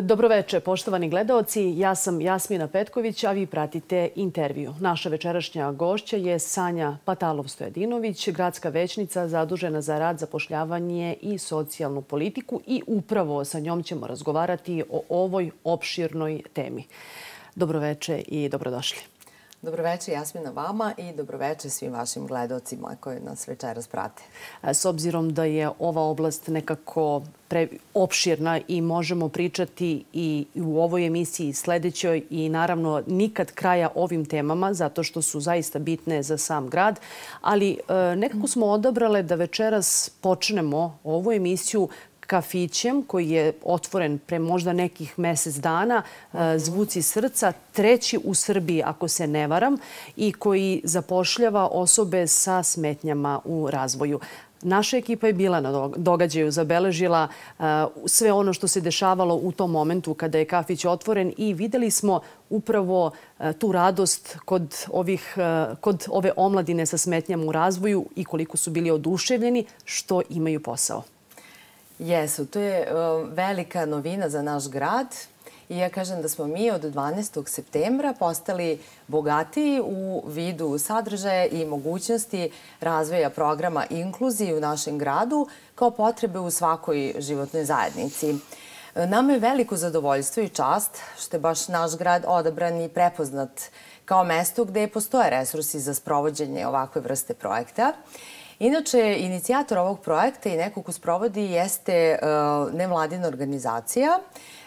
Dobroveče, poštovani gledaoci. Ja sam Jasmina Petković, a vi pratite intervju. Naša večerašnja gošća je Sanja Patalov-Stojadinović, gradska većnica zadužena za rad, zapošljavanje i socijalnu politiku i upravo sa njom ćemo razgovarati o ovoj opširnoj temi. Dobroveče i dobrodošli. Dobroveče Jasmina vama i dobroveče svim vašim gledaocima koji nas večeras prate. S obzirom da je ova oblast nekako opširna i možemo pričati i u ovoj emisiji sledećoj i naravno nikad kraja ovim temama zato što su zaista bitne za sam grad, ali nekako smo odabrale da večeras počnemo ovu emisiju kafićem koji je otvoren pre možda nekih mesec dana, Zvuci srca, treći u Srbiji, ako se ne varam, i koji zapošljava osobe sa smetnjama u razvoju. Naša ekipa je bila na događaju, zabeležila sve ono što se dešavalo u tom momentu kada je kafić otvoren i videli smo upravo tu radost kod ove omladine sa smetnjama u razvoju i koliko su bili oduševljeni što imaju posao. Jesu, to je velika novina za naš grad i ja kažem da smo mi od 12. septembra postali bogatiji u vidu sadržaja i mogućnosti razvoja programa inkluzije u našem gradu kao potrebe u svakoj životnoj zajednici. Nama je veliko zadovoljstvo i čast što je baš naš grad odabran i prepoznat kao mesto gde postoje resursi za sprovođenje ovakve vrste projekta. Inače, inicijator ovog projekta i neko ko sprovodi jeste nevladina organizacija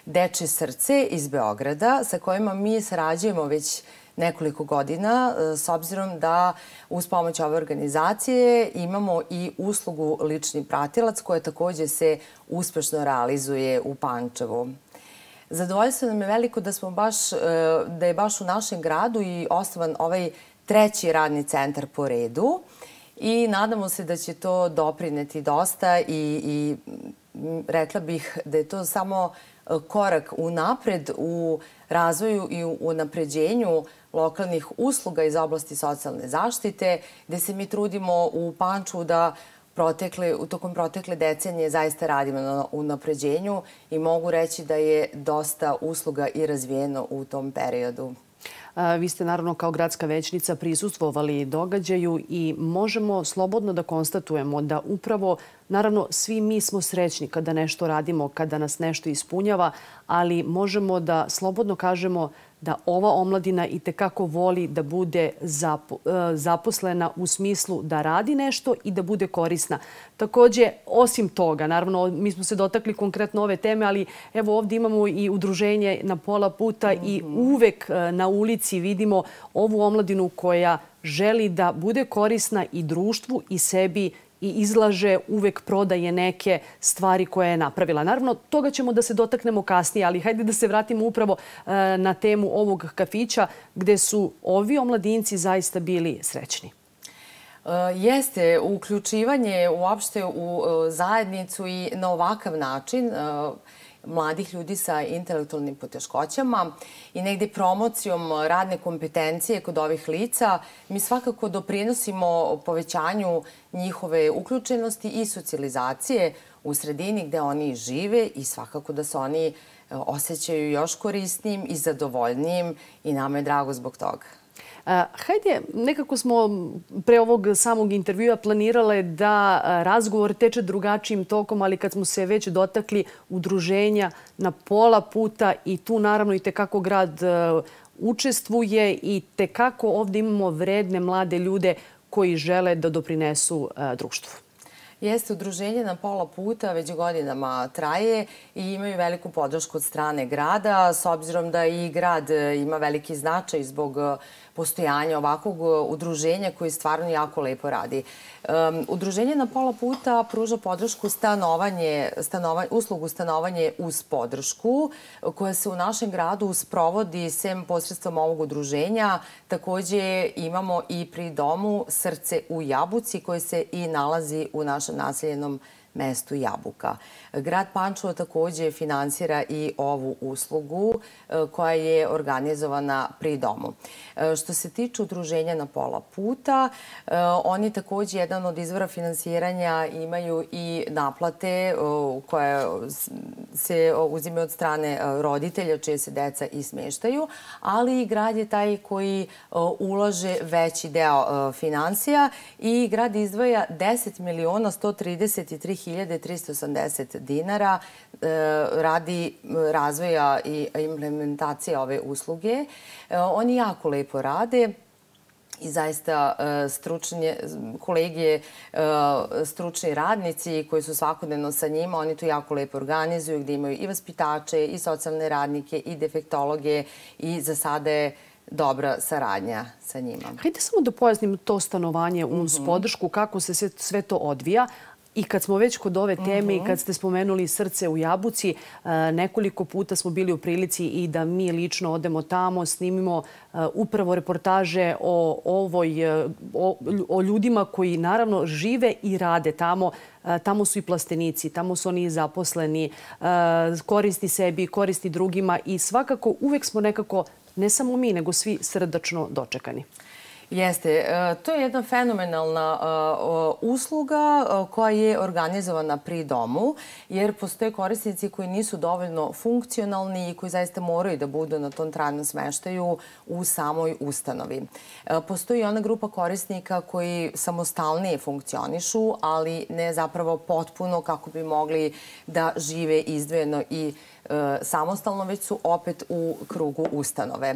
Dečje srce iz Beograda sa kojima mi sarađujemo već nekoliko godina s obzirom da uz pomoć ove organizacije imamo i uslugu lični pratilac koja takođe se uspešno realizuje u Pančevu. Zadovoljstvo nam je veliko da je baš u našem gradu i osnovan ovaj treći radni centar po redu. I nadamo se da će to doprineti dosta i rekla bih da je to samo korak unapred u razvoju i u unapređenju lokalnih usluga iz oblasti socijalne zaštite, gde se mi trudimo u Pančevu da tokom protekle decenije zaista radimo na unapređenju i mogu reći da je dosta usluga i razvijeno u tom periodu. Vi ste naravno kao gradska većnica prisustvovali događaju i možemo slobodno da konstatujemo da upravo, naravno, svi mi smo srećni kada nešto radimo, kada nas nešto ispunjava, ali možemo da slobodno kažemo da ova omladina itekako voli da bude zaposlena u smislu da radi nešto i da bude korisna. Takođe, osim toga, naravno, mi smo se dotakli konkretno ove teme, ali evo ovdje imamo i udruženje Na pola puta i uvek na ulici vidimo ovu omladinu koja želi da bude korisna i društvu i sebi i izlaže, uvek prodaje neke stvari koje je napravila. Naravno, toga ćemo da se dotaknemo kasnije, ali hajde da se vratimo upravo na temu ovog kafića gde su ovi omladinci zaista bili srećni. Jeste, uključivanje uopšte u zajednicu i na ovakav način mladih ljudi sa intelektualnim poteškoćama i negde promocijom radne kompetencije kod ovih lica, mi svakako doprinosimo povećanju njihove uključenosti i socijalizacije u sredini gde oni žive i svakako da se oni osjećaju još korisnijim i zadovoljnijim i nama je drago zbog toga. Hajde, nekako smo pre ovog samog intervjua planirale da razgovor teče drugačijim tokom, ali kad smo se već dotakli udruženja Na pola puta i tu naravno i tekako grad učestvuje i tekako ovdje imamo vredne mlade ljude koji žele da doprinesu društvu. Jeste, udruženje Na pola puta već godinama traje i imaju veliku podršku od strane grada, s obzirom da i grad ima veliki značaj zbog postojanja ovakvog udruženja koji stvarno jako lepo radi. Udruženje Na pola puta pruža podršku uslugu stanovanje uz podršku koja se u našem gradu sprovodi sem posredstvom ovog udruženja. Takođe imamo i pri domu Srce u Jabuci koje se i nalazi u našem naseljenom mestu Jabuka. Grad Pančevo takođe finansira i ovu uslugu koja je organizovana pri domu. Što se tiče udruženja Na pola puta, oni takođe jedan od izvora finansiranja imaju i naplate koje se uzimaju od strane roditelja čije se deca i smeštaju, ali i grad je taj koji ulaže veći deo finansija i grad izdvaja 10.133.380 dinara radi razvoja i implementacije ove usluge. Oni jako lepo rade i zaista kolege, stručni radnici koji su svakodnevno sa njima, oni to jako lepo organizuju, gde imaju i vaspitače, i socijalne radnike, i defektologe i za sada je dobra saradnja sa njima. Hajde samo da pojasnim to stanovanje uz podršku, kako se sve to odvija. I kad smo već kod ove teme i kad ste spomenuli Srce u Jabuci, nekoliko puta smo bili u prilici i da mi lično odemo tamo, snimimo upravo reportaže o ljudima koji naravno žive i rade tamo. Tamo su i plastenici, tamo su oni zaposleni, koristi sebi, koristi drugima i svakako uvek smo nekako, ne samo mi, nego svi srdačno dočekani. Jeste. To je jedna fenomenalna usluga koja je organizovana pri domu, jer postoje korisnici koji nisu dovoljno funkcionalni i koji zaista moraju da budu na tom trajnom smeštaju u samoj ustanovi. Postoji ona grupa korisnika koji samostalnije funkcionišu, ali ne zapravo potpuno kako bi mogli da žive izdvojeno i samostalno, već su opet u krugu ustanove.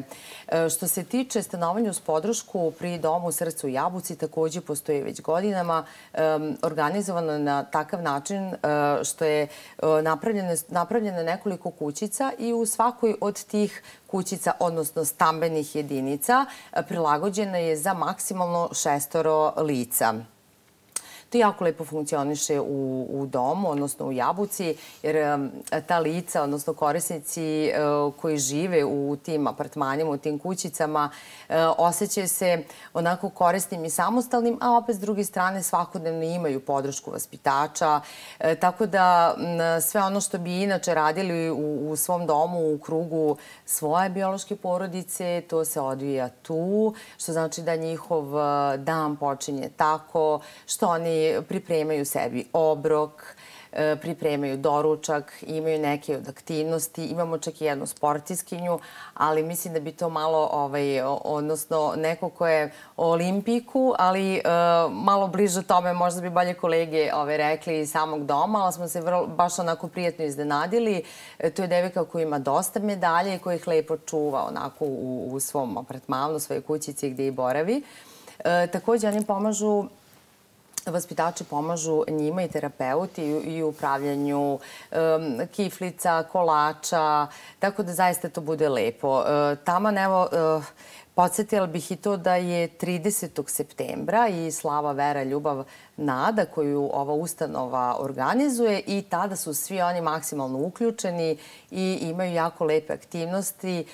Što se tiče stanovanja uz podršku pri domu Srce u Jabuci, takođe postoji već godinama, organizovano na takav način što je napravljeno nekoliko kućica i u svakoj od tih kućica, odnosno stambenih jedinica, prilagođena je za maksimalno 6 lica. To jako lepo funkcioniše u domu, odnosno u Jabuci, jer ta lica, odnosno korisnici koji žive u tim apartmanima, u tim kućicama, osjećaju se onako korisnim i samostalnim, a opet s druge strane svakodnevno imaju podršku vaspitača. Tako da sve ono što bi inače radili u svom domu, u krugu svoje biološke porodice, to se odvija tu, što znači da njihov dan počinje tako, što oni pripremaju sebi obrok, pripremaju doručak, imaju neke od aktivnosti. Imamo čak i jednu sportiskinju, ali mislim da bi to malo, odnosno neko ko je o olimpiku, ali malo bliže tome, možda bi bolje kolege rekli iz samog doma, ali smo se baš onako prijatno iznenadili. To je devojka koja ima dosta medalje i koja ih lepo čuva onako u svom apartmanu, u svojoj kućici gde i boravi. Takođe, oni pomažu, vaspitači pomažu njima i terapeuti i u upravljanju kiflica, kolača, tako da zaista to bude lepo. Taman, evo, podsjetila bih i to da je 30. septembra i Slava, Vera, Ljubav, Nada koju ova ustanova organizuje i tada su svi oni maksimalno uključeni i imaju jako lepe aktivnosti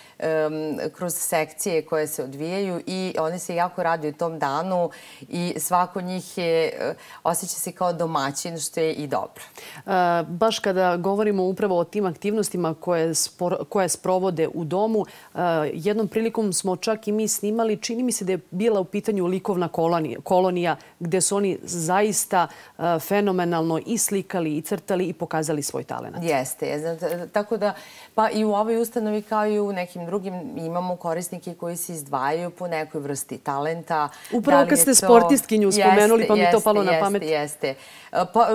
kroz sekcije koje se odvijaju i oni se jako raduju tom danu i svako njih osjeća se kao domaćin, što je i dobro. Baš kada govorimo upravo o tim aktivnostima koje sprovode u domu, jednom prilikom smo čak i mi snimali, čini mi se da je bila u pitanju likovna kolonija gde su oni zaista fenomenalno i slikali i crtali i pokazali svoj talent. Jeste. Tako da, pa i u ovoj ustanovi kao i u nekim drugim imamo korisnike koji se izdvajaju po nekoj vrsti talenta. Upravo kad ste sportistkinju spomenuli, pa mi to palo na pamet. Jeste.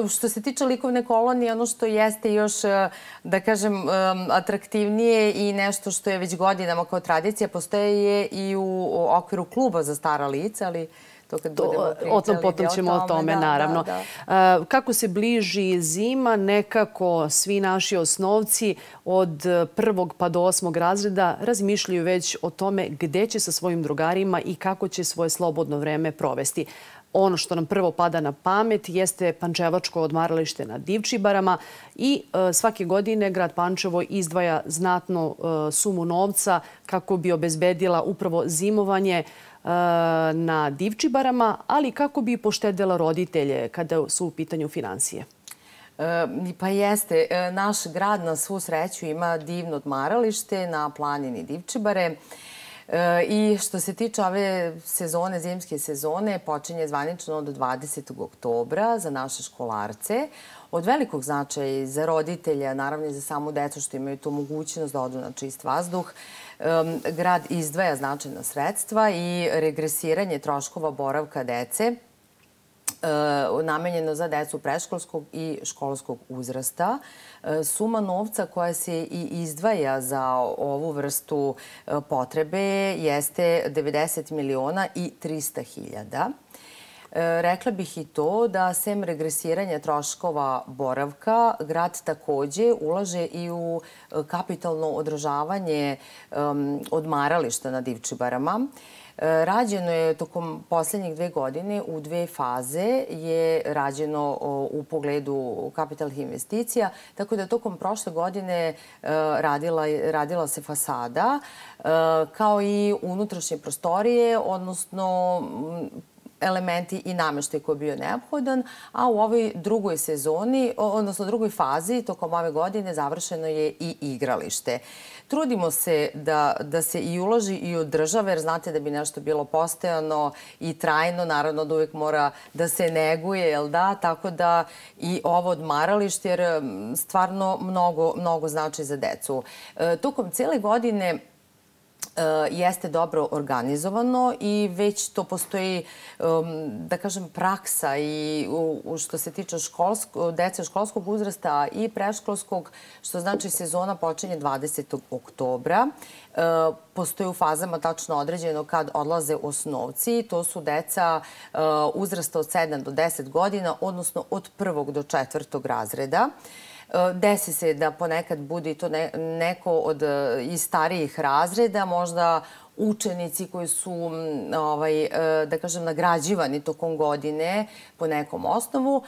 Što se tiče likovne kolonije, ono što jeste još, da kažem, atraktivnije i nešto što je već godinama kao tradicija, postoje je i u okviru kluba za stara lica, ali to kad budemo pričali. Potom ćemo o tome, naravno. Kako se bliži zima, nekako svi naši osnovci od 1. pa do 8. razreda razmišljaju već o tome gde će sa svojim drugarima i kako će svoje slobodno vreme provesti. Ono što nam prvo pada na pamet jeste pančevačko odmaralište na Divčibarama i svake godine grad Pančevo izdvaja znatnu sumu novca kako bi obezbedila upravo zimovanje na Divčibarama, ali kako bi poštedela roditelje kada su u pitanju finansije. Pa jeste. Naš grad na svu sreću ima divno odmaralište na planini Divčibare. I što se tiče ove sezone, zimske sezone, počinje zvanično od 20. oktobra za naše školarce. Od velikog značaja i za roditelja, naravno i za samu decu što imaju tu mogućnost da odu na čist vazduh, grad izdvaja značajna sredstva i regresiranje troškova boravka dece namenjeno za decu predškolskog i školskog uzrasta. Suma novca koja se i izdvaja za ovu vrstu potrebe jeste 90 miliona i 300 hiljada. Rekla bih i to da sem regresiranja troškova boravka, grad takođe ulaže i u kapitalno održavanje odmarališta na Divčibarama. Rađeno je tokom poslednjih 2 godine u 2 faze je rađeno u pogledu kapitalnih investicija, tako da tokom prošle godine radila se fasada kao i unutrašnje prostorije, odnosno elementi i nameštaj koji je bio neophodan, a u ovoj drugoj sezoni, odnosno drugoj fazi, tokom ove godine završeno je i igralište. Trudimo se da se i uloži i od države, jer znate da bi nešto bilo postojano i trajno, naravno da uvijek mora da se neguje, jel da? Tako da i ovo odmaralište, jer stvarno mnogo znači za decu. Tokom cijele godine jeste dobro organizovano i već to postoji, da kažem, praksa i što se tiče dece školskog uzrasta i predškolskog, što znači sezona počinje 20. oktobra. Postoji u fazama tačno određeno kad odlaze osnovci. To su deca uzrasta od 7 do 10 godina, odnosno od 1. do 4. razreda. Desi se da ponekad bude to neko od iz starijih razreda, možda učenici koji su, da kažem, nagrađivani tokom godine po nekom osnovu.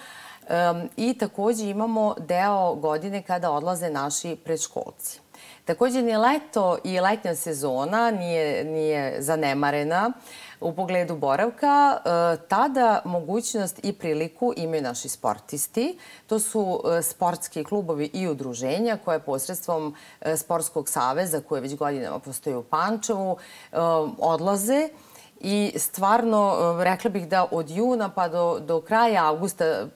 I takođe imamo deo godine kada odlaze naši predškolci. Takođe, ni leto i letnja sezona nije zanemarena u pogledu boravka. Tada mogućnost i priliku imaju naši sportisti. To su sportski klubovi i udruženja koje posredstvom Sportskog saveza, koje već godinama postoji u Pančevu, odlaze. I stvarno, rekla bih da od juna pa do kraja avgusta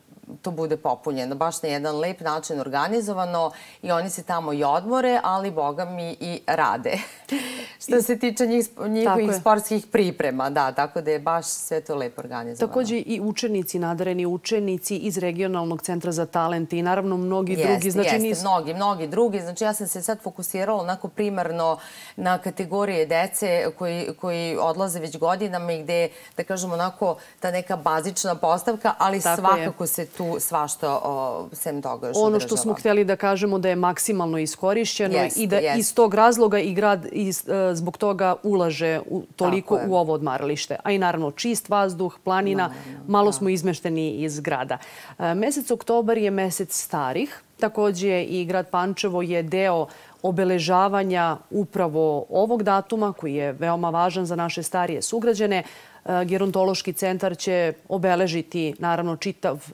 to bude popunjeno. Baš na jedan lep način organizovano i oni se tamo i odmore, ali boga mi i rade. Što se tiče njihovih sportskih priprema, da, tako da je baš sve to lepo organizovano. Takođe i učenici, nadareni učenici iz Regionalnog centra za talent i naravno mnogi drugi. Jeste, mnogi drugi. Znači ja sam se sad fokusirala onako primarno na kategorije dece koji odlaze već godinama i gde, da kažem onako, ta neka bazična postavka, ali svakako se tu svašta sem toga još održava. Ono što smo htjeli da kažemo da je maksimalno iskorišćeno i da iz tog razloga i grad zbog toga ulaže toliko u ovo odmaralište. A i naravno čist vazduh, planina, malo smo izmešteni iz grada. Mesec oktobar je mesec starih. Takođe i grad Pančevo je deo obeležavanja upravo ovog datuma koji je veoma važan za naše starije sugrađane. Gerontološki centar će obeležiti naravno čitav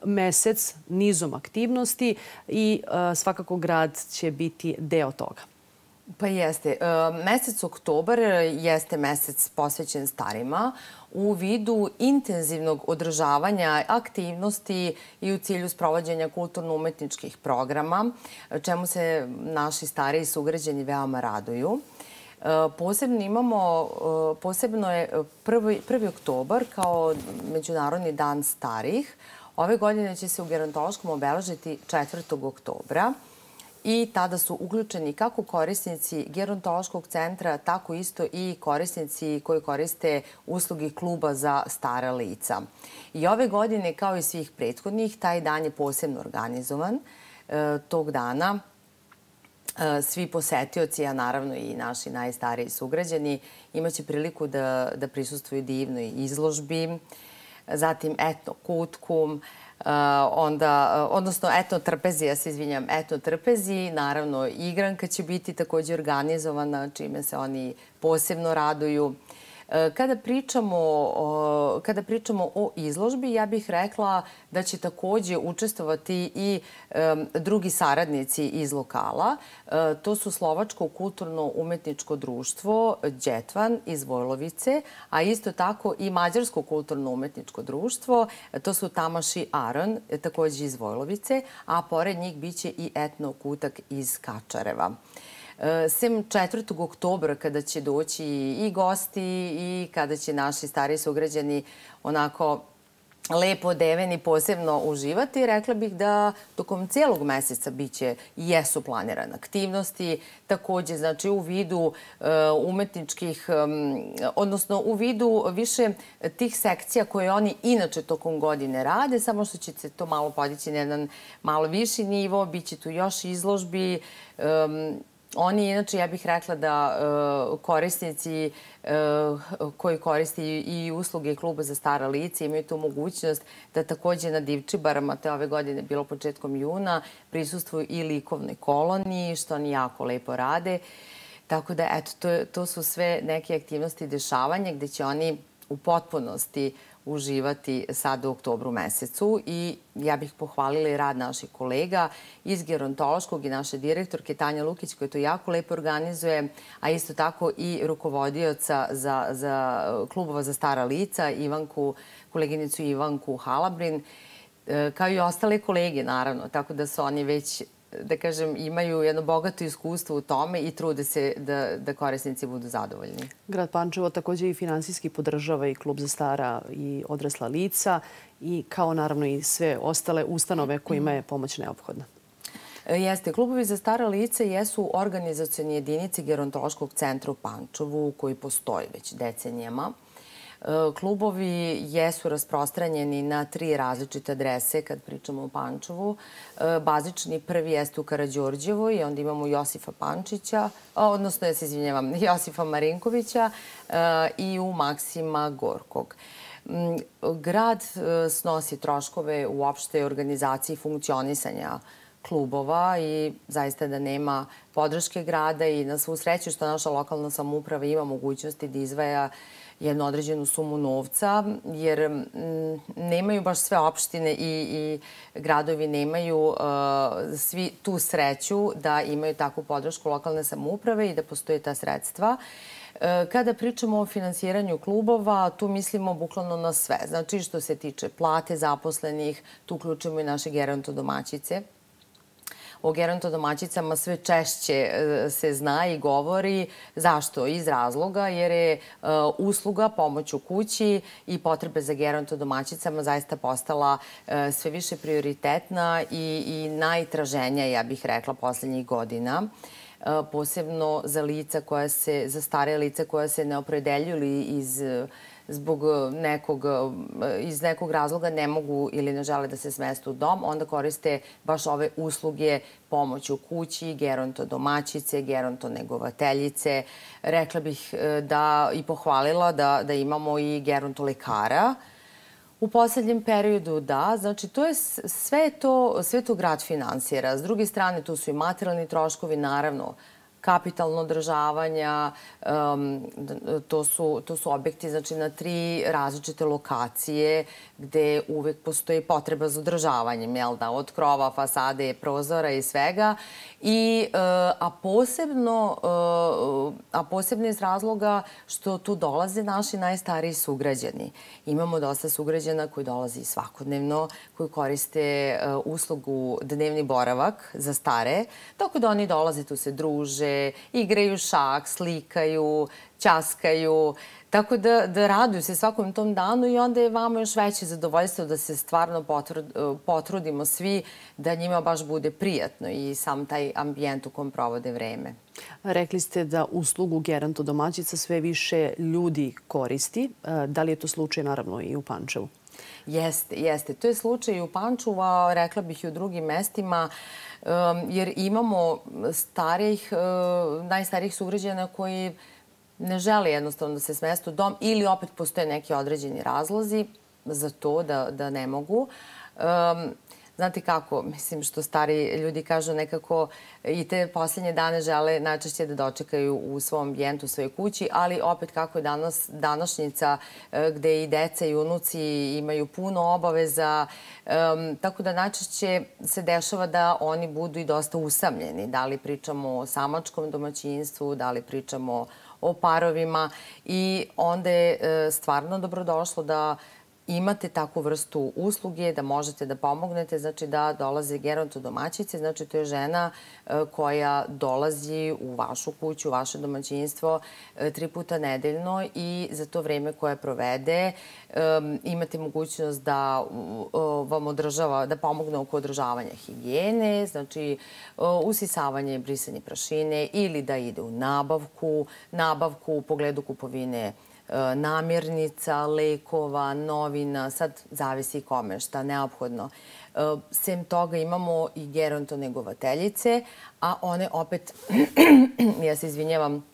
mesec nizom aktivnosti i svakako grad će biti deo toga. Pa jeste. Mesec oktobar jeste mesec posvećen starima u vidu intenzivnog održavanja aktivnosti i u cilju sprovođenja kulturno-umetničkih programa, čemu se naši stariji sugrađani veoma raduju. Posebno je 1. oktobar kao Međunarodni dan starih. Ove godine će se u gerontološkom obeležiti 4. oktobra. I tada su uključeni kako korisnici gerontološkog centra, tako isto i korisnici koji koriste usluge kluba za stara lica. I ove godine, kao i svih prethodnih, taj dan je posebno organizovan. Tog dana svi posetioci, a naravno i naši najstariji sugrađani, imaće priliku da prisustvuju divnoj izložbi, zatim etno kutku, odnosno etno trpezi, ja se izvinjam, etno trpezi. Naravno, igranka će biti također organizovana, čime se oni posebno raduju. Kada pričamo o izložbi, ja bih rekla da će takođe učestvovati i drugi saradnici iz lokala. To su Slovačko kulturno-umetničko društvo Đetvan iz Vojlovice, a isto tako i Mađarsko kulturno-umetničko društvo. To su Tamaš i Aron, takođe iz Vojlovice, a pored njih biće i Etno Kutak iz Kačareva. Sem 4. oktobra, kada će doći i gosti i kada će naši stari sugrađani onako lepo odeveni posebno uživati, rekla bih da tokom celog meseca biće i jesu planirane aktivnosti, takođe znači u vidu umetničkih, odnosno u vidu više tih sekcija koje oni inače tokom godine rade, samo što će se to malo podići na jedan malo viši nivo, biće tu još izložbi. Oni, inače, ja bih rekla da korisnici koji koriste i usluge kluba za stara lica imaju tu mogućnost da takođe na Divčibarama, to je ove godine bilo početkom juna, prisustvuju i likovnoj koloniji, što oni jako lepo rade. Tako da, eto, to su sve neke aktivnosti i dešavanja gde će oni u potpunosti uživati sad u oktobru mesecu i ja bih pohvalila i rad naših kolega iz gerontološkog i naše direktorke Tanja Lukić koja to jako lepo organizuje, a isto tako i rukovodioca za klubova za stara lica, koleginicu Ivanku Halabrin, kao i ostale kolege naravno, tako da su oni već, da kažem, imaju jedno bogato iskustvo u tome i trude se da korisnici budu zadovoljni. Grad Pančevo takođe i finansijski podržava i klub za stara i odrasla lica i kao naravno i sve ostale ustanove kojima je pomoć neophodna. Jeste. Klubovi za stara lica jesu organizacioni jedinice gerontološkog centra u Pančevu koji postoji već decenijama. Klubovi jesu rasprostranjeni na 3 različite adrese kad pričamo o Pančevu. Bazični prvi jeste u Karađorđevoj i onda imamo Josifa Pančića, odnosno, ja se izvinjavam, Josifa Marinkovića i u Maksima Gorkog. Grad snosi troškove u opštoj organizaciji funkcionisanja klubova i zaista da nema podrške grada i na svu sreću što naša lokalna samouprava ima mogućnosti da izdvaja jednu određenu sumu novca, jer nemaju baš sve opštine i gradovi nemaju svi tu sreću da imaju takvu podršku lokalne samouprave i da postoje ta sredstva. Kada pričamo o finansiranju klubova, tu mislimo bukvalno na sve. Znači, što se tiče plate zaposlenih, tu uključujemo i naše gerontodomaćice. O gerontodomaćicama sve češće se zna i govori. Zašto? Iz razloga jer je usluga pomoć u kući i potrebe za gerontodomaćicama zaista postala sve više prioritetna i najtraženija, ja bih rekla, poslednjih godina. Posebno za stare lica koja se ne opredeljuju iz nekog razloga ne mogu ili ne žele da se smeste u dom, onda koriste baš ove usluge pomoć u kući, gerontodomaćice, gerontonegovateljice. Rekla bih i pohvalila da imamo i gerontolekara. U poslednjem periodu, da. Znači, sve to grad finansira. S druge strane, tu su i materijalni troškovi, naravno, kapitalno održavanja, to su objekti znači, na 3 različite lokacije gde uvek postoji potreba za održavanjem, od krova, fasade, prozora i svega. A posebno iz razloga što tu dolaze naši najstariji sugrađani. Imamo dosta sugrađana koji dolazi svakodnevno, koji koriste uslugu dnevni boravak za stare, tako da oni dolaze, tu se druže, igraju šah, slikaju, ćaskaju, tako da raduju se svakom tom danu i onda je vama još veće zadovoljstvo da se stvarno potrudimo svi da njima baš bude prijatno i sam taj ambijent u kom provode vreme. Rekli ste da uslugu gerontodomaćica sve više ljudi koristi. Da li je to slučaj naravno i u Pančevu? Jeste. To je slučaj i u Pančevu, a rekla bih i u drugim mestima, jer imamo najstarijih sugrađana koji ne žele jednostavno da se smeste u dom ili opet postoje neki određeni razlozi za to da ne mogu. znate kako, mislim što stari ljudi kažu nekako i te posljednje dane žele najčešće da dočekaju u svom ambijentu, u svojoj kući, ali opet kako je današnjica gde i deca i unuci imaju puno obaveza, tako da najčešće se dešava da oni budu i dosta usamljeni. Da li pričamo o samačkom domaćinstvu, da li pričamo o parovima i onda je stvarno dobrodošlo da imate takvu vrstu usluge, da možete da pomognete, znači da dolaze gerontodomaćice, znači to je žena koja dolazi u vašu kuću, u vaše domaćinstvo 3 puta nedeljno i za to vreme koje provede imate mogućnost da vam održava, da pomogne oko održavanja higijene, znači usisavanje i brisanje prašine ili da ide u nabavku u pogledu kupovine namirnica, lekova, novina, sad zavisi kome šta neophodno. Sem toga imamo i gerontonegovateljice, a one opet, ja se izvinjavam,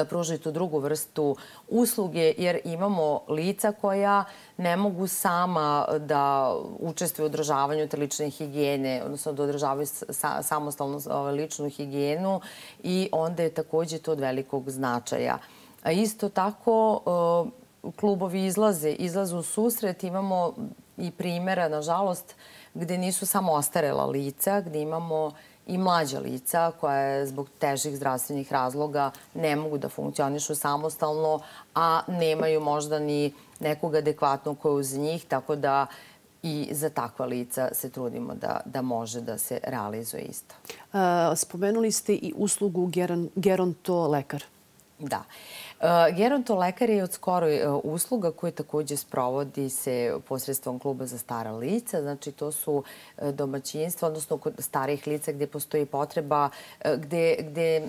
pružaju tu drugu vrstu usluge jer imamo lica koja ne mogu sama da učestvuju u održavanju te lične higijene, odnosno da održavaju samostalno ličnu higijenu i onda je takođe to od velikog značaja. A isto tako, klubovi izlaze u susret. Imamo i primjera, nažalost, gde nisu samo ostarela lica, gde imamo i mlađa lica koja zbog težih zdravstvenih razloga ne mogu da funkcionišu samostalno, a nemaju možda ni nekog adekvatnog koja uz njih, tako da i za takva lica se trudimo da može da se realizuje isto. Spomenuli ste i uslugu gerontolekar. Da. Gerontolekar je od skoro usluga koja takođe sprovodi se posredstvom kluba za stara lica. Znači, to su domaćinstva, odnosno kod starijih lica gde postoji potreba, gde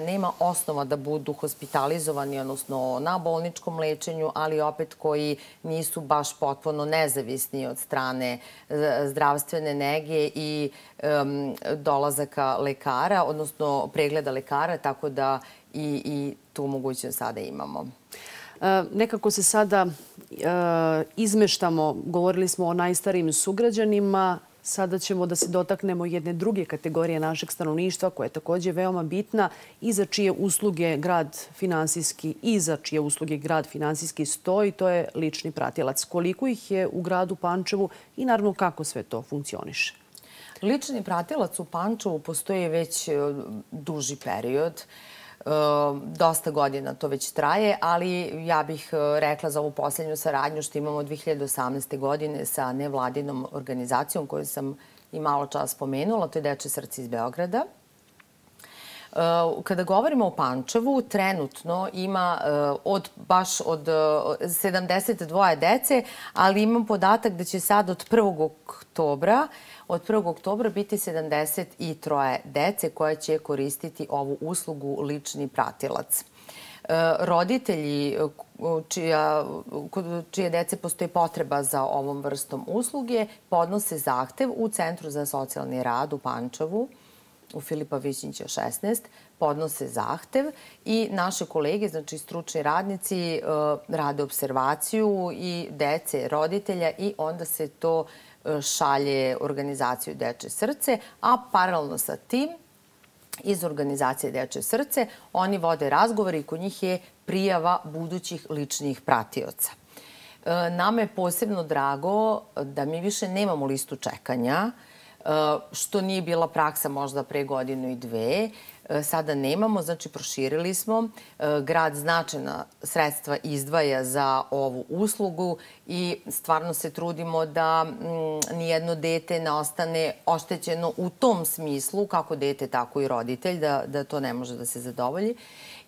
nema osnova da budu hospitalizovani, odnosno na bolničkom lečenju, ali opet koji nisu baš potpuno nezavisni od strane zdravstvene nege i dolazaka lekara, odnosno pregleda lekara, tako da i tu mogućnost sada imamo. Nekako se sada izmeštamo, govorili smo o najstarijim sugrađanima, sada ćemo da se dotaknemo jedne druge kategorije našeg stanovništva koja je takođe veoma bitna i za čije usluge grad finansijski stoji, to je lični pratilac. Koliko ih je u gradu Pančevu i naravno kako sve to funkcioniše? Lični pratilac u Pančevu postoji već duži period. Dosta godina to već traje, ali ja bih rekla za ovu posljednju saradnju što imamo 2018. godine sa nevladinom organizacijom koju sam i malo čas spomenula, to je Dečje srce iz Beograda. Kada govorimo o Pančevu, trenutno ima baš od 72 dece, ali imam podatak da će sad od 1. oktobra biti 73 dece koje će koristiti ovu uslugu lični pratilac. Roditelji čije dece postoji potreba za ovom vrstom usluge podnose zahtev u Centru za socijalni rad u Pančevu, u Filipa Višnjića 16, podnose zahtev i naše kolege, znači stručni radnici, rade observaciju i dece, roditelja i onda se to šalje organizaciju Dečje srce, a paralelno sa tim iz organizacije Dečje srce oni vode razgovor i kod njih je prijava budućih ličnih pratioca. Nama je posebno drago da mi više nemamo listu čekanja, što nije bila praksa možda pre godinu i dve. Sada nemamo, znači proširili smo. Grad značajna sredstva izdvaja za ovu uslugu i stvarno se trudimo da nijedno dete ne ostane oštećeno u tom smislu, kako dete, tako i roditelj, da to ne može da se zadovolji.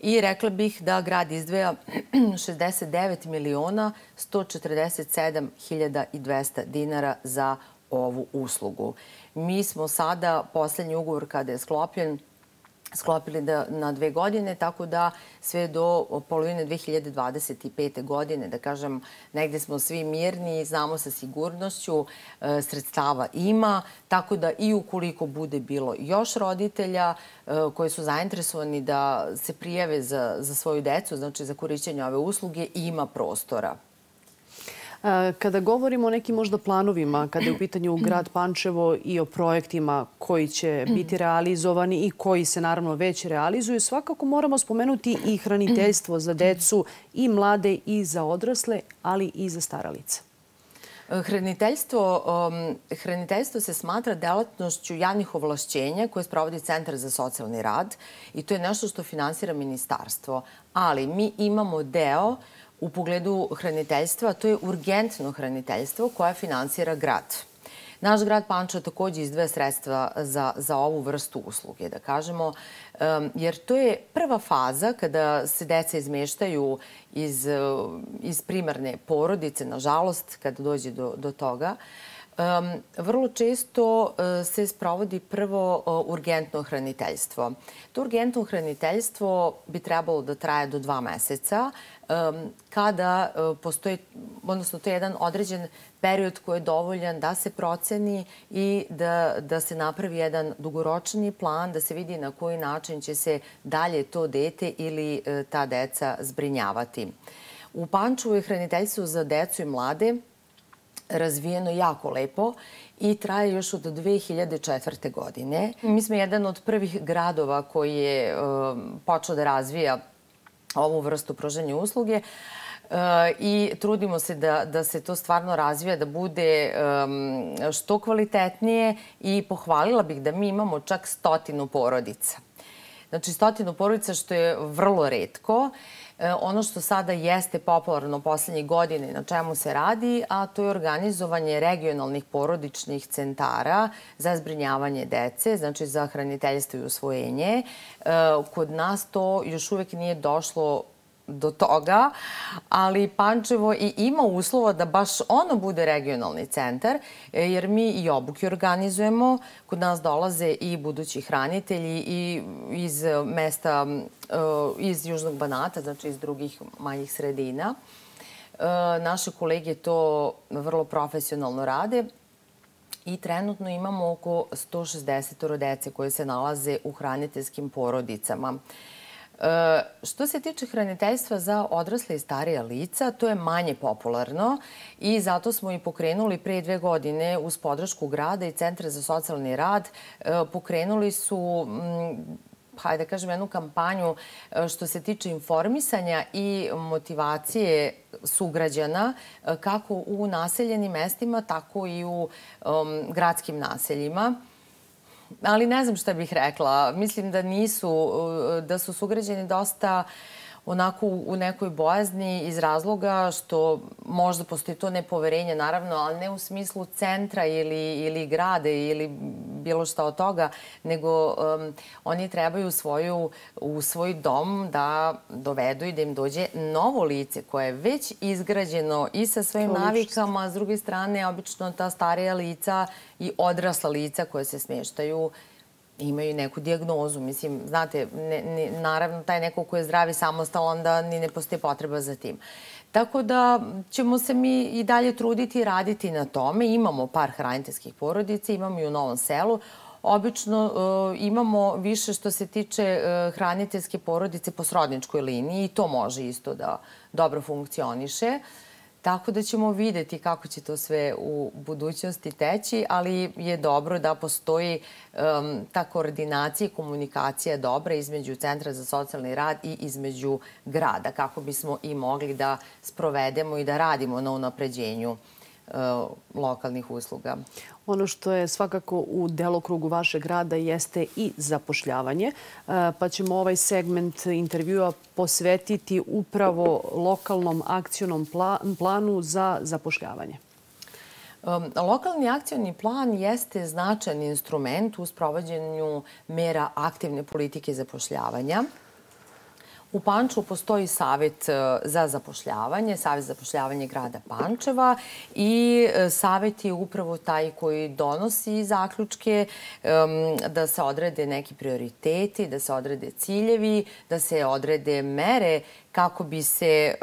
I rekla bih da grad izdvaja 69.147.200 dinara za ovu uslugu. Mi smo sada, poslednji ugovor kada je sklopljen, sklopili na 2 godine, tako da sve do polovine 2025. godine, da kažem, negde smo svi mirni, znamo sa sigurnošću, sredstava ima, tako da i ukoliko bude bilo još roditelja koji su zainteresovani da se prijave za svoju decu, znači za korišćenje ove usluge, ima prostora. Kada govorimo o nekim možda planovima, kada je u pitanju grad Pančevo i o projektima koji će biti realizovani i koji se naravno već realizuju, svakako moramo spomenuti i hraniteljstvo za decu i mlade i za odrasle, ali i za stara lica. Hraniteljstvo se smatra delatnošću javnih ovlašćenja koje sprovodi Centar za socijalni rad i to je nešto što finansira ministarstvo. Ali mi imamo deo u pogledu hraniteljstva, to je urgentno hraniteljstvo koje finansira grad. Naš grad Pančevo takođe izdvaja sredstva za ovu vrstu usluge, da kažemo, jer to je prva faza kada se deca izmeštaju iz primarne porodice, nažalost, kada dođe do toga. Vrlo često se sprovodi prvo urgentno hraniteljstvo. To urgentno hraniteljstvo bi trebalo da traje do 2 meseca, kada postoji, odnosno to je jedan određen period koji je dovoljan da se proceni i da se napravi jedan dugoročni plan, da se vidi na koji način će se dalje to dete ili ta deca zbrinjavati. U Pančevu je hraniteljstvo za decu i mlade razvijeno jako lepo i traje još od 2004. godine. Mi smo jedan od prvih gradova koji je počeo da razvija ovu vrstu pružanja usluge i trudimo se da se to stvarno razvija, da bude što kvalitetnije i pohvalila bih da mi imamo čak 100 porodica. Znači 100 porodica, što je vrlo retko. Ono što sada jeste popularno poslednjih godina na čemu se radi, a to je organizovanje regionalnih porodičnih centara za zbrinjavanje dece, znači za hraniteljstvo i usvojenje. Kod nas to još uvek nije došlo do toga, ali Pančevo i ima uslova da baš ono bude regionalni centar, jer mi i obuke organizujemo. Kod nas dolaze i budući hranitelji i iz mesta, iz Južnog Banata, znači iz drugih manjih sredina. Naše kolege to vrlo profesionalno rade i trenutno imamo oko 160 dece koje se nalaze u hraniteljskim porodicama. Što se tiče hraniteljstva za odrasle i starija lica, to je manje popularno i zato smo i pokrenuli pre 2 godine uz podršku grada i Centra za socijalni rad. Pokrenuli su, hajde da kažem, jednu kampanju što se tiče informisanja i motivacije sugrađana kako u naseljenim mestima, tako i u gradskim naseljima. Ali ne znam šta bih rekla. Mislim da su sugrađani dosta onako u nekoj bojazni iz razloga što možda postoji to nepoverenje, naravno, ali ne u smislu centra ili grade ili bilo šta od toga, nego oni trebaju u svoj dom da dovedu i da im dođe novo lice koje je već izgrađeno i sa svojim navikama, a s druge strane, obično ta starija lica i odrasla lica koje se smještaju imaju neku dijagnozu. Mislim, znate, naravno, taj neko ko je zdrav i samostalan, onda ni ne postoji potreba za tim. Tako da ćemo se mi i dalje truditi i raditi na tome. Imamo par hraniteljskih porodica, imamo i u Novom Selu. Obično imamo više što se tiče hraniteljske porodice po srodničkoj liniji i to može isto da dobro funkcioniše. Tako da ćemo videti kako će to sve u budućnosti teći, ali je dobro da postoji ta koordinacija i komunikacija dobra između Centra za socijalni rad i između grada, kako bismo i mogli da sprovedemo i da radimo na unapređenju lokalnih usluga. Ono što je svakako u delokrugu vašeg rada jeste i zapošljavanje, pa ćemo ovaj segment intervjua posvetiti upravo lokalnom akcionom planu za zapošljavanje. Lokalni akcioni plan jeste značajan instrument u sprovođenju mera aktivne politike zapošljavanja. U Pančevu postoji Savet za zapošljavanje, Savet za zapošljavanje grada Pančeva i Savet je upravo taj koji donosi zaključke da se odrede neki prioriteti, da se odrede ciljevi, da se odrede mere kako bi se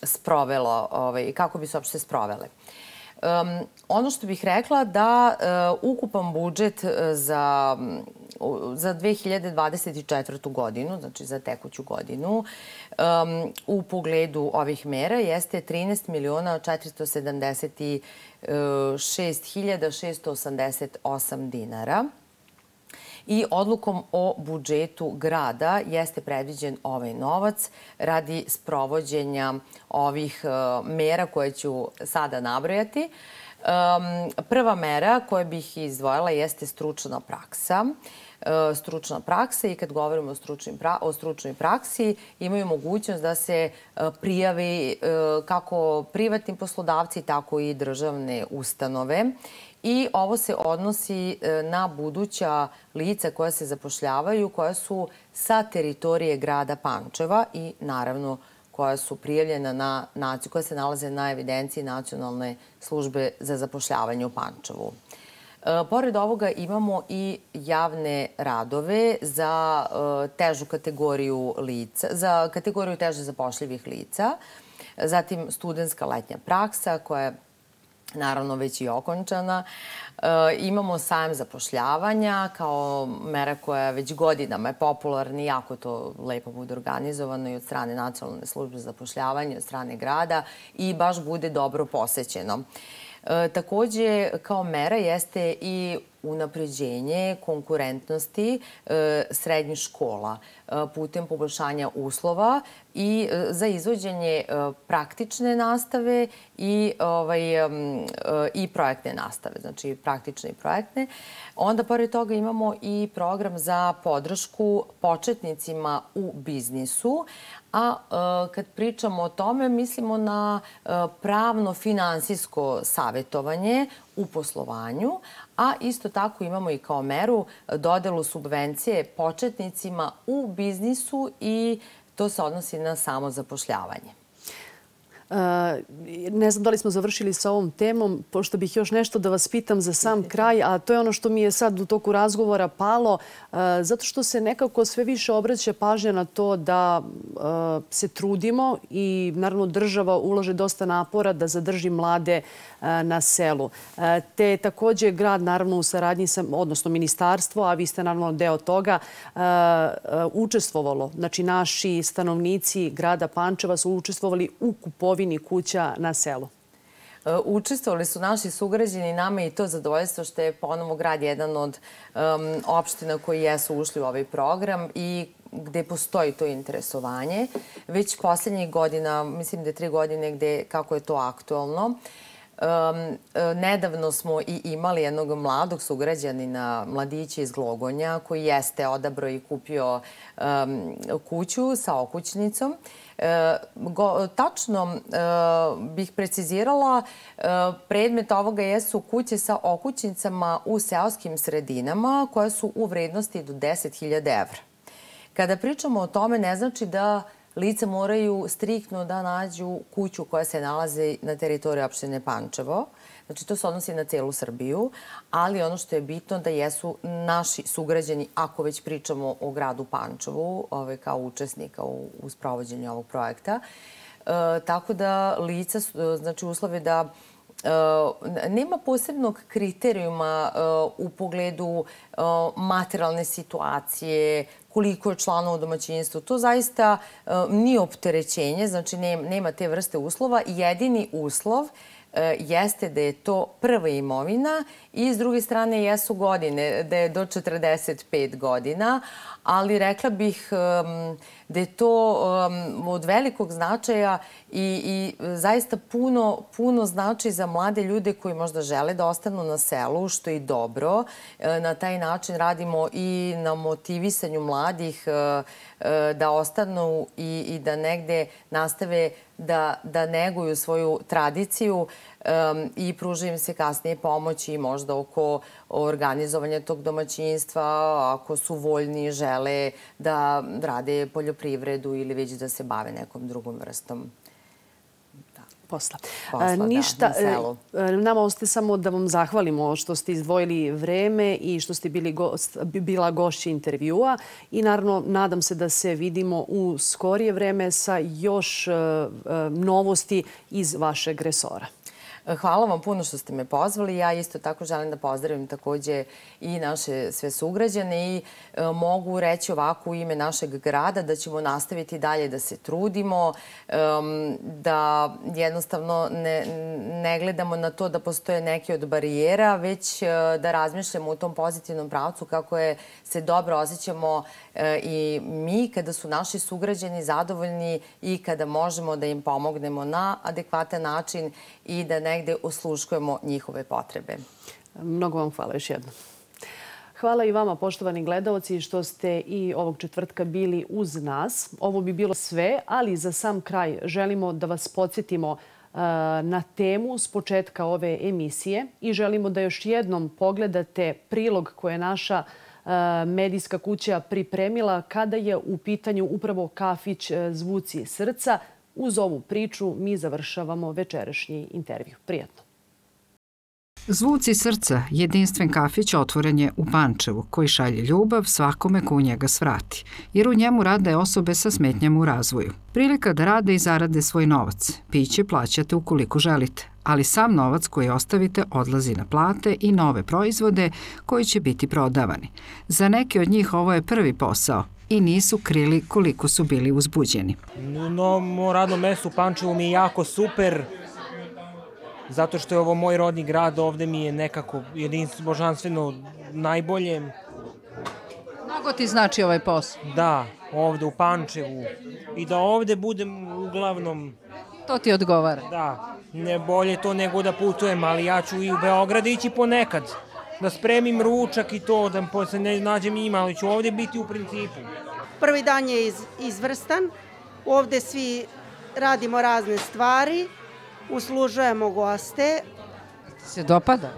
sprovelo, kako bi se uopšte sprovele. Ono što bih rekla da ukupan budžet za 2024. godinu, znači za tekuću godinu, u pogledu ovih mera jeste 13.476.688 dinara. I odlukom o budžetu grada jeste predviđen ovaj novac radi sprovođenja ovih mera koje ću sada nabrojati. Prva mera koju bih izdvojila jeste stručna praksa. Stručna praksa i kad govorimo o stručnoj praksi imaju mogućnost da se prijavi kako privatni poslodavci, tako i državne ustanove. I ovo se odnosi na buduća lica koja se zapošljavaju, koja su sa teritorije grada Pančeva i naravno koja su prijavljena koja se nalaze na evidenciji Nacionalne službe za zapošljavanje u Pančevu. Pored ovoga imamo i javne radove za težu kategoriju lica, za kategoriju teže zapošljivih lica, zatim studentska letnja praksa koja je naravno već i okončana. Imamo sajam zapošljavanja kao mera koja već godinama je popularna i jako to lepo bude organizovano i od strane Nacionalne službe za zapošljavanje, od strane grada i baš bude dobro posećeno. Takođe, kao mera jeste i unapređenje konkurentnosti srednjih škola putem poboljšanja uslova i za izvođenje praktične nastave i projektne nastave, znači praktične i projektne. Onda, pored toga, imamo i program za podršku početnicima u biznisu, a kad pričamo o tome, mislimo na pravno-finansijsko savjetovanje u poslovanju, a isto tako imamo i kao meru dodelu subvencije početnicima u biznisu i to se odnosi na samozapošljavanje. Ne znam da li smo završili sa ovom temom, pošto bih još nešto da vas pitam za sam kraj, a to je ono što mi je sad u toku razgovora palo, zato što se nekako sve više obraća pažnja na to da se trudimo i naravno država ulaže dosta napora da zadrži mlade na selu. Te takođe grad naravno u saradnji sa, odnosno ministarstvo, a vi ste naravno deo toga, učestvovalo. Znači naši stanovnici grada Pančeva su učestvovali u kupovini kuća na selu. Učestvovali su naši sugrađani, nama je i to zadovoljstvo što je ponovo grad jedan od opština koji jesu ušli u ovaj program i gde postoji to interesovanje. Već poslednjih godina, mislim da je 3 godine kako je to aktualno. Nedavno smo i imali jednog mladog sugrađanina, mladića iz Glogonja, koji jeste odabrao i kupio kuću sa okućnicom. Tačno bih precizirala, predmet ovoga jesu kuće sa okućnicama u seoskim sredinama koje su u vrednosti do 10.000 evra. Kada pričamo o tome, ne znači da lica moraju striktno da nađu kuću koja se nalazi na teritoriji opštine Pančevo. Znači, to se odnosi na celu Srbiju, ali ono što je bitno da jesu naši sugrađani, ako već pričamo o gradu Pančevu, kao učesnika u sprovođenju ovog projekta. Tako da lica, znači uslove da nema posebnog kriterijuma u pogledu materijalne situacije, koliko je članova u domaćinstvu. To zaista nije opterećenje, znači nema te vrste uslova. Jedini uslov jeste da je to prva imovina i s druge strane jesu godine, da je do 45 godina, ali rekla bih da je to od velikog značaja i zaista puno znači za mlade ljude koji možda žele da ostanu na selu, što je i dobro. Na taj način radimo i na motivisanju mladih da ostanu i da negde nastave da neguju svoju tradiciju i pruža im se kasnije pomoći možda oko organizovanja tog domaćinstva, ako su voljni, žele da rade poljoprivredu ili već da se bave nekom drugom vrstom posla. Ništa, na selu. Nama ostaje samo da vam zahvalimo što ste izdvojili vreme i što ste bila gošća intervjua i naravno nadam se da se vidimo u skorije vreme sa još novosti iz vašeg resora. Hvala vam puno što ste me pozvali. Ja isto tako želim da pozdravim takođe i naše sve sugrađane i mogu reći ovako u ime našeg grada da ćemo nastaviti dalje da se trudimo, da jednostavno ne gledamo na to da postoje neke od barijera, već da razmišljamo u tom pozitivnom pravcu kako se dobro osjećamo i mi kada su naši sugrađani zadovoljni i kada možemo da im pomognemo na adekvatan način i da negde osluškujemo njihove potrebe. Mnogo vam hvala još jednom. Hvala i vama, poštovani gledaoci, što ste i ovog četvrtka bili uz nas. Ovo bi bilo sve, ali za sam kraj želimo da vas podsjetimo na temu s početka ove emisije i želimo da još jednom pogledate prilog koje je naša medijska kuća pripremila kada je u pitanju upravo kafić Zvuci srca. Uz ovu priču mi završavamo večerašnji intervju. Prijatno. Zvuci srca, jedinstven kafić otvoren je u Pančevu koji šalje ljubav svakome ko u njega svrati, jer u njemu rade osobe sa smetnjama u razvoju. Prilika da rade i zarade svoj novac. Piće plaćate ukoliko želite, ali sam novac koji ostavite odlazi na plate i nove proizvode koji će biti prodavani. Za neke od njih ovo je prvi posao i nisu krili koliko su bili uzbuđeni. Novo radno mesto u Pančevu mi je jako super, zato što je ovo moj rodni grad, ovde mi je nekako jedinstveno, božanstveno najbolje. Mnogo ti znači ovaj posao? Da, ovde u Pančevu. I da ovde budem uglavnom... To ti odgovara? Da, ne bolje to nego da putujem, ali ja ću i u Beograd ići ponekad. Da spremim ručak i to, da se ne nađem njima, ali ću ovde biti u principu. Prvi dan je izvrstan. Ovde svi radimo razne stvari. Uslužujemo goste. Ti se dopada?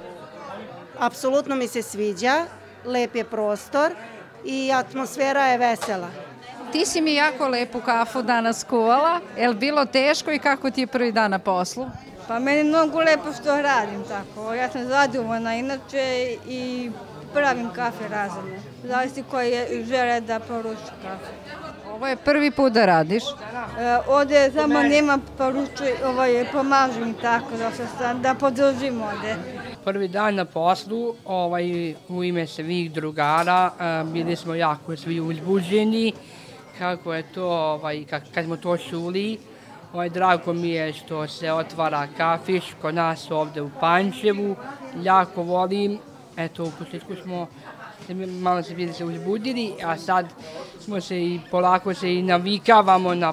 Apsolutno mi se sviđa, lep je prostor i atmosfera je vesela. Ti si mi jako lepu kafu danas kuvala. Je li bilo teško i kako ti je prvi dan na poslu? Pa meni je mnogo lepo što radim tako. Ja sam zadovoljna inače i pravim kafe razine. Zavisi koji žele da poruči kafe. Ovo je prvi put da radiš? Ovde samo nema pomažem tako da podržim ovde. Prvi dan na poslu, u ime svih drugara, bili smo jako svi uzbuđeni. Kako je to, kad smo to čuli, drago mi je što se otvara kafić kod nas ovde u Pančevu. Jako volim, eto u početku smo malo se bili se uzbudili, a sad smo se i polako se i navikavamo na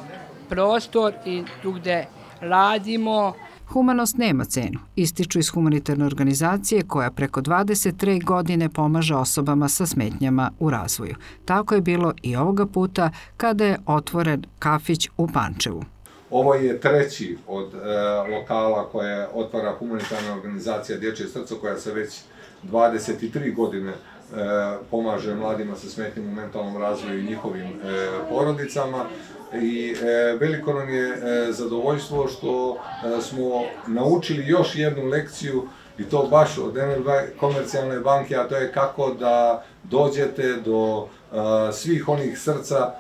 prostor i tu gde radimo. Humanost nema cenu, ističu iz humanitarne organizacije koja preko 23 godine pomaže osobama sa smetnjama u razvoju. Tako je bilo i ovoga puta kada je otvoren kafić u Pančevu. Ovo je treći od lokala koje otvara humanitarna organizacija Dječje srce koja se već 23 godine pomaže mladima sa smetnjama u mentalnom razvoju i njihovim porodicama. I veliko nam je zadovoljstvo što smo naučili još jednu lekciju i to baš od NLB Komercijalne banke, a to je kako da dođete do svih onih srca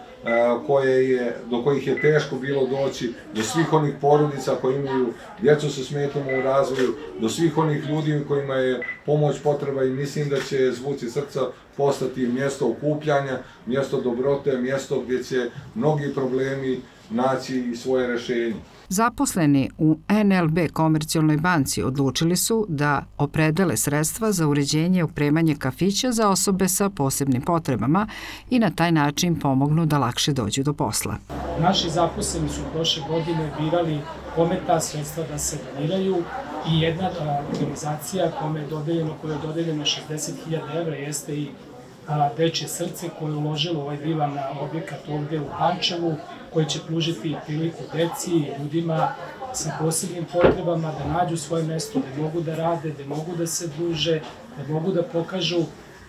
do kojih je teško bilo doći, do svih onih porodica koji imaju djecu sa smetnjama u razvoju, do svih onih ljudi kojima je pomoć potreba i mislim da će Zvuci srca postati mjesto okupljanja, mjesto dobrote, mjesto gdje će mnogi problemi naći i svoje rješenje. Zaposleni u NLB Komercijalnoj banci odlučili su da opredele sredstva za uređenje i opremanje kafića za osobe sa posebnim potrebama i na taj način pomognu da lakše dođu do posla. Naši zaposleni su prošle godine birali kome ta sredstva da se doniraju i jedna organizacija kojoj je dodeljeno 60.000 evra jeste i Dječje srce koje je uložilo ovaj divan objekat ovde u Pančevu koji će pružiti priliku deci i ljudima sa posebnim potrebama da nađu svoje mesto, da mogu da rade, da mogu da se druže, da mogu da pokažu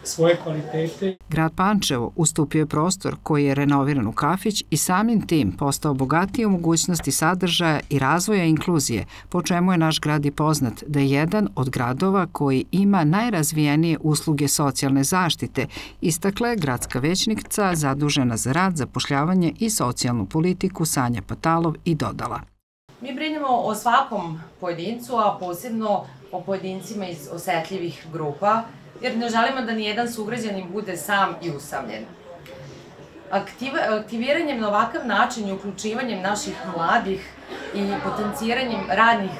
svoje kvalitete. Grad Pančevo ustupio je prostor koji je renoviran u kafić i samim tim postao bogatiji u mogućnosti sadržaja i razvoja inkluzije, po čemu je naš grad i poznat da je jedan od gradova koji ima najrazvijenije usluge socijalne zaštite, istakla je gradska većnica zadužena za rad, zapošljavanje i socijalnu politiku Sanja Patalov i dodala. Mi brinemo o svakom pojedincu, a posebno o pojedincima iz osetljivih grupa, jer ne želimo da nijedan sugrađanin bude sam i usamljen. Aktiviranjem na ovakav način i uključivanjem naših mladih i potenciranjem radnih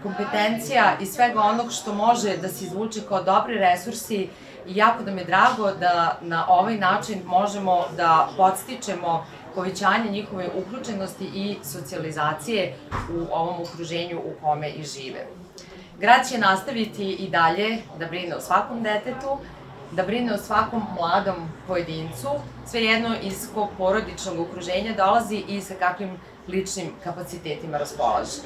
kompetencija i svega onog što može da se izvuče kao dobri resursi, i jako da mi je drago da na ovaj način možemo da podstičemo povećanje njihove uključenosti i socijalizacije u ovom okruženju u kome i žive. Grad će nastaviti i dalje da brine o svakom detetu, da brine o svakom mladom pojedincu, svejedno iz kog porodičnog okruženja dolazi i sa kakvim ličnim kapacitetima raspolaže.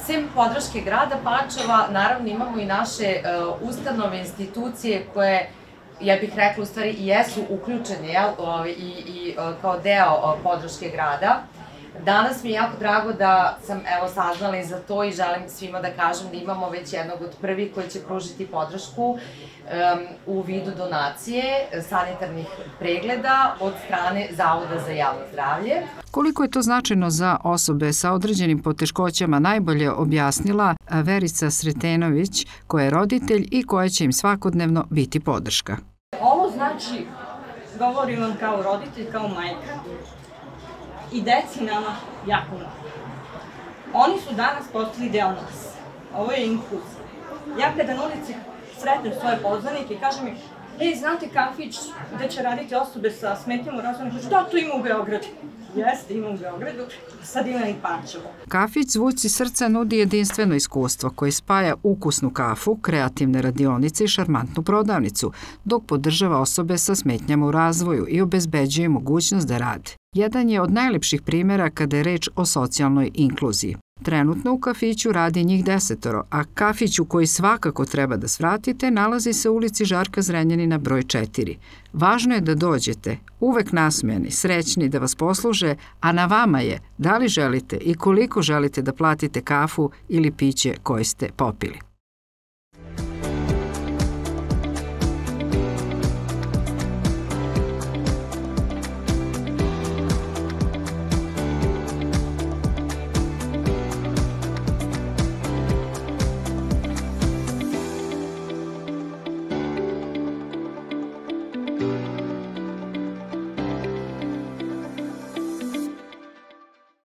Sem podrške grada Pančeva, naravno imamo i naše ustanove, institucije koje, ja bih rekla, u stvari i jesu uključene i kao deo podrške grada. Danas mi je jako drago da sam saznala i za to i želim svima da kažem da imamo već jednog od prvih koji će pružiti podršku u vidu donacije sanitarnih pregleda od strane Zavoda za javno zdravlje. Koliko je to značajno za osobe sa određenim poteškoćama najbolje objasnila Verica Sretenović, koja je roditelj i koja će im svakodnevno biti podrška. Ovo znači, govorim vam kao roditelj, kao majka, i deci nama jako mnogo. Oni su danas postali deo nas. Ovo je inkluzija. Ja kada na ulici sretnem svoje poznanike i kažem im, znate kafić gde će raditi osobe sa smetnjama u razvoju? Kažu, da, to ima u Beogradu. Jeste, ima u Beogradu, sad ima i Pančevo. Kafić Zvuci srca nudi jedinstveno iskustvo koje spaja ukusnu kafu, kreativne radionice i šarmantnu prodavnicu, dok podržava osobe sa smetnjama u razvoju i obezbeđuje mogućnost da rade. Jedan je od najlepših primjera kada je reč o socijalnoj inkluziji. Trenutno u kafiću radi njih 10, a kafić u koji svakako treba da svratite nalazi se u ulici Žarka Zrenjanina broj 4. Važno je da dođete, uvek nasmejani, srećni da vas posluže, a na vama je da li želite i koliko želite da platite kafu ili piće koje ste popili. Thank you.